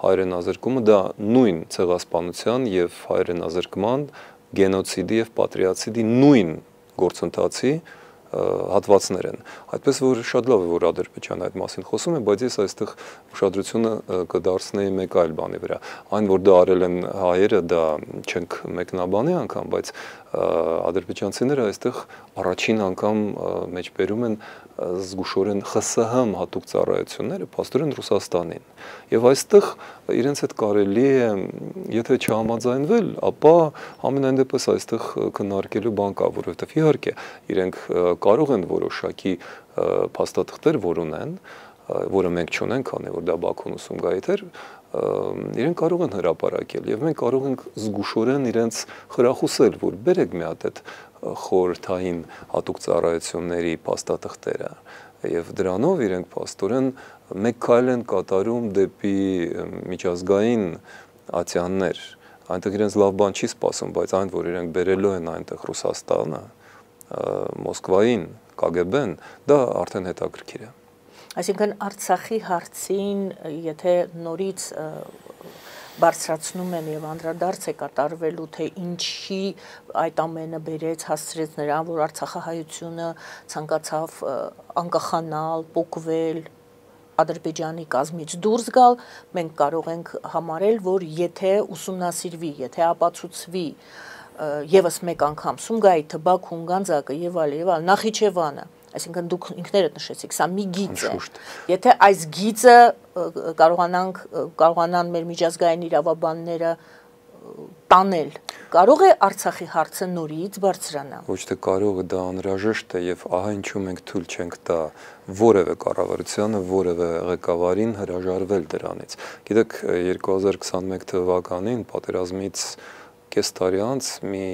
հայրենազրկումը դա նույն ցեղասպանության եւ հայրենազրկման, գենոցիդի եւ պատրիացիդի նույն գործընթացի հատվածներ են։ Այդպես որ շատ լավ է, որ Ադրբեջանը այդ մասին խոսում է, բայց ես այստեղ ուշադրությունը կդարձնեի մեկ այլ բանի վրա։ Այն, որ դա արել են հայերը, դա չենք մեկնաբանի անգամ, բայց ադրբեջանցիները այստեղ առաջին անգամ մեջբերում են զգուշորեն ԽՍՀՄ հատուկ ծառայությունները փաստորեն Ռուսաստանին։ Եվ այստեղ իրենց հետ կարելի է, եթե չհամաձայնվել, ապա ամենայն դեպս այստեղ քննարկելու բան կա, որովհետև իհարկե իրենք կարող են որոշակի փաստաթղթեր, որ ունեն, որը մենք չունենք, քանի որ դա Բաքուն ու Սումգայիթ էր, իրենք կարող են հրապարակել եւ մենք կարող ենք զգուշորեն իրենց խրախուսել, որ բերեք մի հատ այդ խորհրդային հատուկ ծառայությունների փաստաթղթերը եւ դրանով իրենք փաստորեն մեկ քայլ են կատարում դեպի միջազգային ատյաններ, այնտեղ իրենց լավ բան չի սպասում, բայց այն, որ իրենք բերելու են այնտեղ Ռուսաստանը, Մոսկվային, KGB-ն, դա արդեն հետաքրքիր է։ Այսինքն Արցախի հարցին, եթե նորից բարձրացնում են եւ անդրադարձ է կատարվելու, թե ինչի այդ ամենը բերեց, հասցրեց նրան, որ Արցախահայությունը ցանկացավ անկախանալ, պոկվել, Ադրբեջանի կազմից դուրս գալ, մենք կարող ենք համարել, որ եթե ուսումնասիրվի, եթե ապացուցվի եւս մեկ անգամ Սումգայիթը, Բաքուն, Գանձակը եւ այլ, Նախիջևանը, այսինքն դուք ինքներդ նշեցիք, սա մի գիծ է։ Եթե այս գիծը կարողանան մեր միջազգային իրավաբանները տանել, կարող է Արցախի հարցը նորից բարձրանալ։ Ոչ թե կարող է, դա անհրաժեշտ է եւ ահա ինչու մենք թույլ չենք տա որևէ կառավարությանը, որևէ ղեկավարին հրաժարվել դրանից։ Գիտեք, 2021 թվականին պատերազմից կես տարի անց մի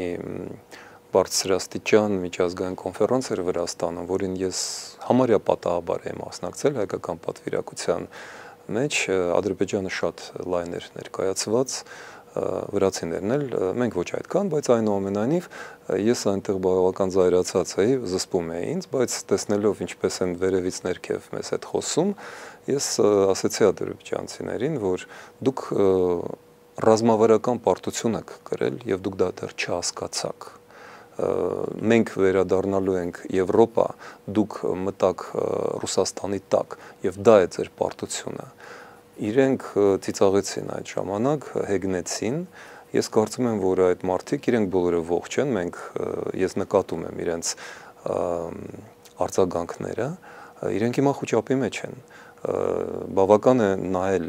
բարձրաստիճան միջազգային կոնֆերանս էր Վրաստանում, որին ես համարյա պատահաբար եմ մասնակցել հայկական պատվիրակության մեջ, Ադրբեջանը շատ լայն էր ներկայացված, վրացիներն էլ, մենք ոչ այդքան, բայց այնուամենայնիվ ես այնտեղ բավական զայրացած էի, զսպում էի ինձ, բայց տեսնելով ինչպես են վերևից ներքև մեզ հետ խոսում, ես ասեցի ադրբեջանցիներին, որ դուք ռազմավարական պարտություն եք կրել եւ դուք դա դեռ չհասկացաք։ Մենք վերադառնալու ենք Եվրոպա, դուք մտաք Ռուսաստանի տակ եւ դա է ձեր պարտությունը։ Իրենք ծիծաղեցին այդ ժամանակ, հեգնեցին։ Ես կարծում եմ, որ այդ մարդիկ իրենք բոլորը ողջ են, ես նկատում եմ իրենց արձագանքները, իրենք հիմա խոճապի մեջ են։ Բավական է նայել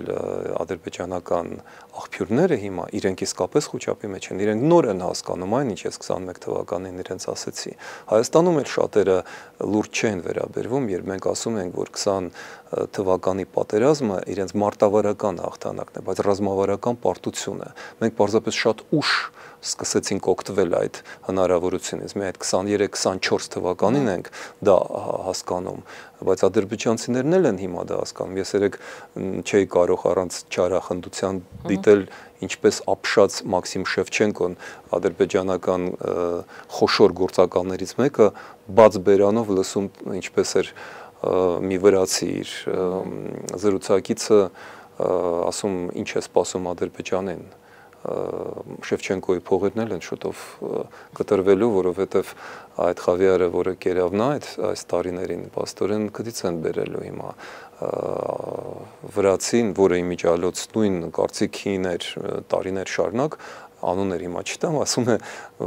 ադրբեջանական աղբյուրները հիմա իրենք իսկապես խոճապի մեջ են, իրենք նոր են հասկանում այն, ինչ ես 21 թվականին իրենց ասեցի։ Հայաստանում էլ շատերը լուրջ չեն վերաբերվում, երբ մենք ասում ենք, որ 20 թվականի պատերազմը իրենց մարտավարական հաղթանակն է, բայց ռազմավարական պարտություն է։ Մենք պարզապես շատ ուշ սկսեցինք օգտվել այդ հնարավորությունից։ Մենք այդ 23-24 թվականին ենք դա հասկանում, բայց ադրբեջանցիներն էլ են հիմա դա հասկանում։ Ես երեք չէի կարող առանց չարախնդության դիտել, ինչպես ապշած Մաքսիմ Շևչենկոն, ադրբեջանական խոշոր գործակալներից մեկը, բաց բերանով լսում ինչպես էր մի վրացի իր զրուցակիցը ասում ինչ է սպասում Ադրբեջանին։ Շևչենկոյի փողերն էլ են շուտով կտրվելու, որովհետև այդ խավիարը, որը կերավ նա այս տարիներին, պաստորեն քդից են բերելու հիմա վրացին, որը իմիջիալոց նույն կարծիքին էր տարիներ շարունակ, անուններ հիմա չտամ, ասում է,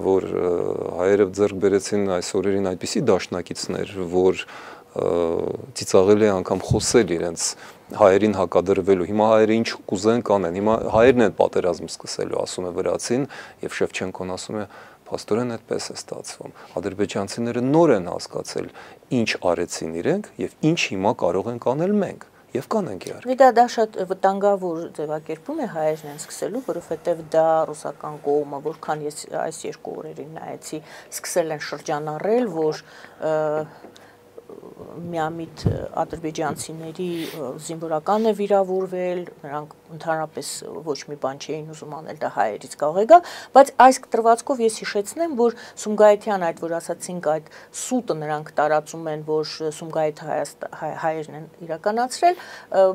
որ հայերը ձեռք բերեցին այս օրերին այդպիսի դաշնակիցներ, որ ծիծաղելի է անգամ խոսել իրենց հայերին հակադրվելու, հիմա հայերը ինչ կուզեն կանեն, հիմա հայերն են պատերազմ սկսելու, ասում է վրացին, եւ Շևչենկոն ասում է, փաստորեն այդպես է ստացվում։ Ադրբեջանցիները նոր են հասկացել, ինչ արեցին իրենք եւ ինչ հիմա կարող ենք անել մենք։ Եվ կանենք իհարկե։ Դա շատ վտանգավոր ձևակերպում է հայերն են սկսելու, որովհետև դա ռուսական կողմը, որքան ես այս երկու օրերին նայեցի, սկսել են շրջանառել, որ միամիտ ադրբեջանցիների զինվորական է վիրավորվել, նրանք ընդհանրապես ոչ մի բան չէին ուզում անել, դա հայերից կարող է գալ, բայց այս տրվածքով ես հիշեցնեմ, որ Սումգայիթյան այդ, որ ասացինք, այդ սուտը նրանք տարածում են, որ Սումգայիթ հայերն են իրականացրել,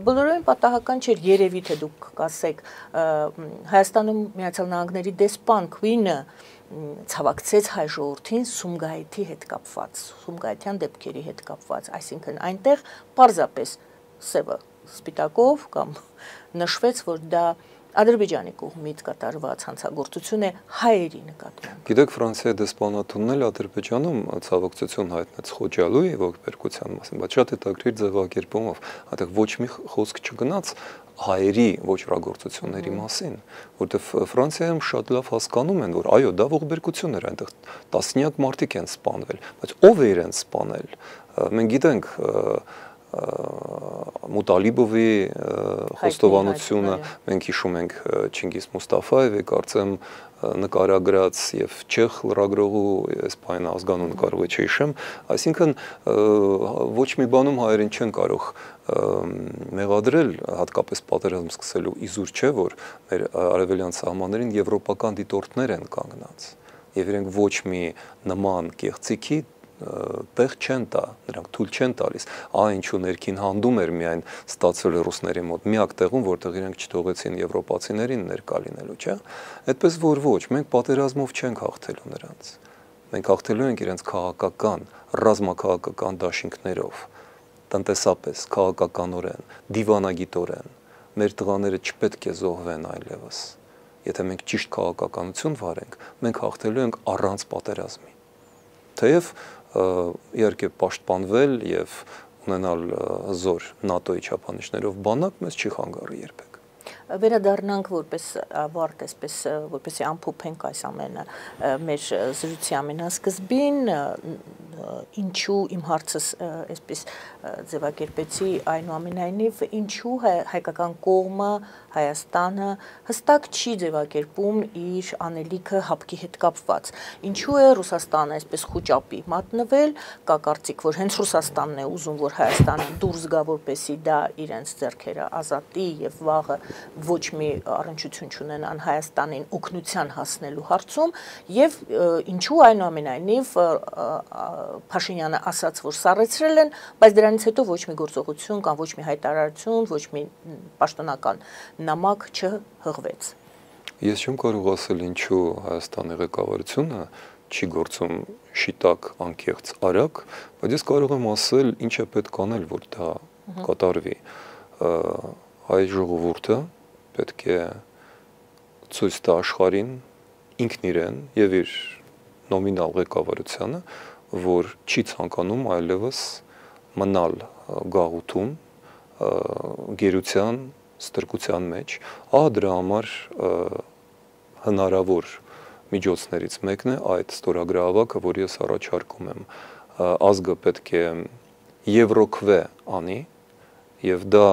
բոլորովին պատահական չէր, երևի թե դուք կասեք, Հայաստանում Միացյալ Նահանգների դեսպան Քվինը ցավակցեց հայ ժողովրդին Սումգայիթի հետ կապված, Սումգայիթյան դեպքերի հետ կապված, այսինքն այնտեղ պարզապես սևը սպիտակով կամ նշվեց, որ դա Ադրբեջանի կողմից կատարված հանցագործություն է հայերի նկատմամբ։ Գիտեք, Ֆրանսիայի դեսպանատունն էլ Ադրբեջանում ցավակցություն հայտնեց Խոջալուի ողբերգության մասին, բայց շատ հետաքրքիր ձևակերպումով, այդտեղ ոչ մի խոսք չգնաց հայերի ոչռագործությունների մասին, որովհետև Ֆրանսիայում շատ լավ հասկանում են, որ այո, դա ողբերգություն էր, այնտեղ տասնյակ մարդիկ են սպանվել, բայց ով է իրենց սպանել։ Մենք գիտենք Մուտալիբովի խոստովանությունը, մենք հիշում ենք Չինգիզ Մուստաֆայևի, կարծեմ նկարագրած եւ չեխ լրագրողու Իսպանիա ազգանուն նկարողը չհիշեմ, այսինքն ոչ մի բանում հայերին չեն կարող մեղադրել, հատկապես պատերազմ սկսելու իզուր չէ, որ մեր արևելյան սահմաններին եվրոպական դիտորդներ են կանգնած եւ իրենք ոչ մի նման կեղծիքի տեղ չեն տա, նրանք թույլ չեն տալիս, ինչու ներքին հանդում էր միայն ստացվել ռուսների մոտ, միակ տեղում, որտեղ իրենք չթողեցին եվրոպացիներին ներկա լինելու, չէ՞։ Այդպես որ ոչ, մենք պատերազմով չենք հաղթելու նրանց։ Մենք հաղթելու ենք իրենց քաղաքական, ռազմաքաղաքական դաշինքներով, տնտեսապես, քաղաքականորեն, դիվանագիտորեն։ Մեր տղաները չպետք է զոհվեն այլևս։ Եթե մենք ճիշտ քաղաքականություն վարենք, մենք հաղթելու ենք առանց պատերազմի։ Թեև իհարկե պաշտպանվել եւ ունենալ հզոր ՆԱՏՕ-ի չափանիշներով բանակ մեզ չի խանգարի երբեք։ Վերադառնանք որպես ավարտ, այսպես որպեսզի ամփոփենք այս ամենը մեր զրույցի ամենասկզբին, ինչու իմ հարցս այսպես ձևակերպեցի, այնուամենայնիվ ինչու հայկական կողմը, Հայաստանը հստակ չի ձևակերպում իր անելիքը հապկի հետ կապված։ Ինչու է Ռուսաստանը այսպես խոճապի մատնվել, կա կարծիք, որ հենց Ռուսաստանն է ուզում, որ Հայաստանը դուրս գա, որպեսզի դա իրենց ձեռքերը ազատի եւ վաղը ոչ մի առնչություն չունենան Հայաստանին օգնության հասնելու հարցում եւ ինչու այնուամենայնիվ Փաշինյանը ասաց, որ սառեցրել են, բայց դրանից հետո ոչ մի գործողություն կամ ոչ մի հայտարարություն, ոչ մի պաշտոնական նամակ չհղվեց։ Ես չեմ կարող ասել ինչու Հայաստանի ղեկավարությունը չի գործում շիտակ, անկեղծ, արագ, բայց ես կարող եմ ասել ինչ է պետք անել, որ դա կատարվի։ Հայ ժողովուրդը պետք է ցույց տա աշխարհին ինքն իրեն եւ իր նոմինալ ղեկավարությանը, որ չի ցանկանում այլևս մնալ գաղութում, գերության, ստրկության մեջ, դրա համար հնարավոր միջոցներից մեկն է այդ ստորագրահավաքը, որ ես առաջարկում եմ։ Ազգը պետք է եվրոքվե անի, եւ դա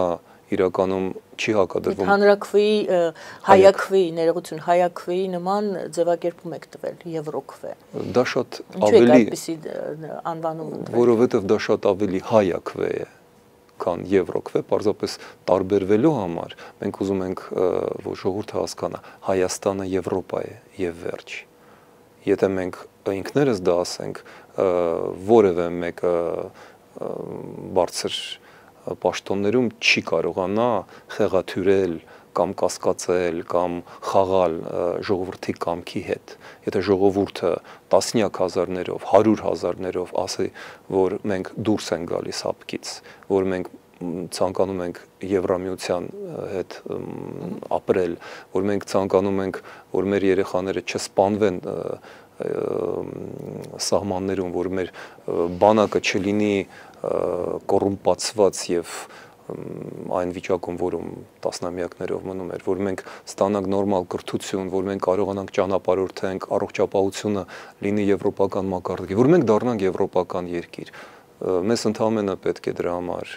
իրականում չի հակադրվում հանրաքվեի, հայաքվեի, ներողություն, հայաքվեի նման ձևակերպում եք տվել եվրոքվե։ Դա շատ ավելի այդպիսի անվանում ընտրել։ Որովհետեւ դա շատ ավելի հայաքվե է, քան եվրոքվե, պարզապես տարբերվելու համար մենք ուզում ենք, որ ժողովուրդը հասկանա, Հայաստանը Եվրոպա է եւ վերջ։ Եթե մենք ինքներս դա ասենք, որևէ մեկը բարձր պաշտոններում չի կարողանա խեղաթյուրել կամ կասկածել կամ խաղալ ժողովրդի կամքի հետ։ Եթե ժողովուրդը տասնյակ հազարներով, 100,000-ներով ասի, որ մենք դուրս ենք գալիս հապկից, որ մենք ցանկանում ենք Եվրամիության հետ ապրել, որ մենք ցանկանում ենք, որ մեր երեխաները չսպանվեն սահմաններում, որ մեր բանակը չլինի կոռումպացված եւ այն վիճակում, որում տասնամյակներով մնում էր, որ մենք ստանանք նորմալ կրթություն, որ մենք կարողանանք ճանապարհորդենք, առողջապահությունը լինի եվրոպական մակարդակի, որ մենք դառնանք եվրոպական երկիր։ Մեզ ընդհանրապես պետք է դրա համար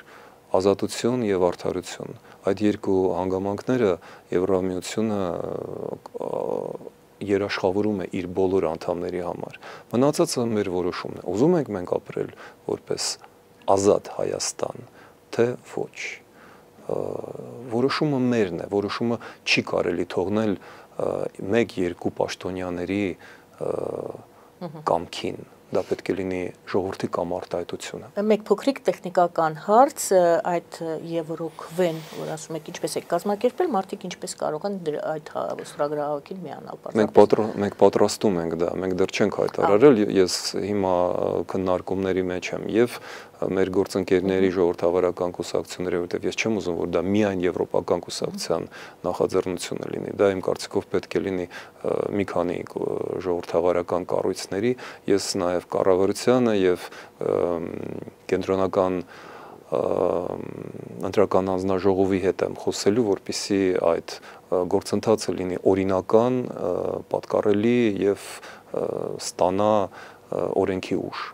ազատություն եւ արդարություն։ Այդ երկու հանգամանքները Եվրամիությունը երաշխավորում է իր բոլոր անդամների համար։ Մնացածը մեր որոշումն է։ Ուզում ենք մենք ապրել որպես ազատ Հայաստան, թե ոչ։ Որոշումը մերն է, որոշումը չի կարելի թողնել 1-2 պաշտոնյաների կամքին։ Դա պետք է լինի ժողովրդի կամ արտահայտությունը։ Մեկ փոքրիկ տեխնիկական հարց, այդ եվրոքվեն, որ ասում եք ինչպես եք կազմակերպել, մարդիկ ինչպես կարող են այդ ստորագրահավաքին միանալ։ Մենք պատրաստում ենք դա, մենք դեռ չենք հայտարարել, ես հիմա քննարկումների մեջ եմ եւ մեր գործընկերների ժողովրդավարական կուսակցությունները, որտեղ ես չեմ ուզում, որ դա միայն եվրոպական կուսակցության նախաձեռնությունը լինի, դա իմ կարծիքով պետք է լինի մի քանի ժողովրդավարական կառույցների, ես նաեւ կառավարությանը եւ կենտրոնական ընտրական անձնաժողովի հետ եմ խոսելու, որպեսզի այդ գործընթացը լինի օրինական, պատկառելի եւ ստանա օրենքի ուժ։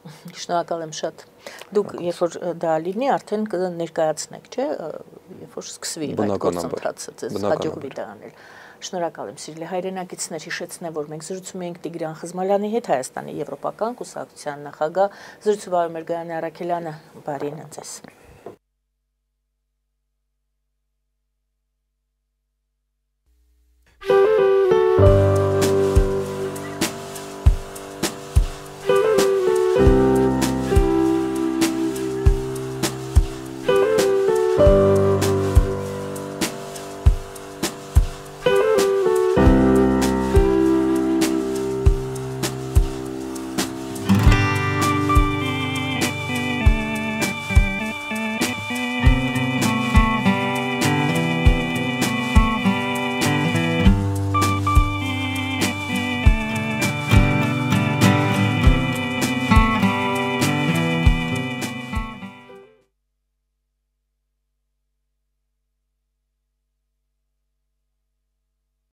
Շնորհակալ եմ շատ։ Դուք երբ որ դա լինի, արդեն կներկայացնեք, չէ՞, երբ որ սկսվի այդ գործընթացը, ձեզ հաջողվի դա անել։ Շնորհակալ եմ, սիրելի հայրենակիցներ, հիշեցնեմ, որ մենք զրուցում ենք Տիգրան Խզմալյանի հետ, Հայաստանի Եվրոպական կուսակցության նախագահ, զրուցում էր Գայանե Առաքելյանը, բարին ձեզ։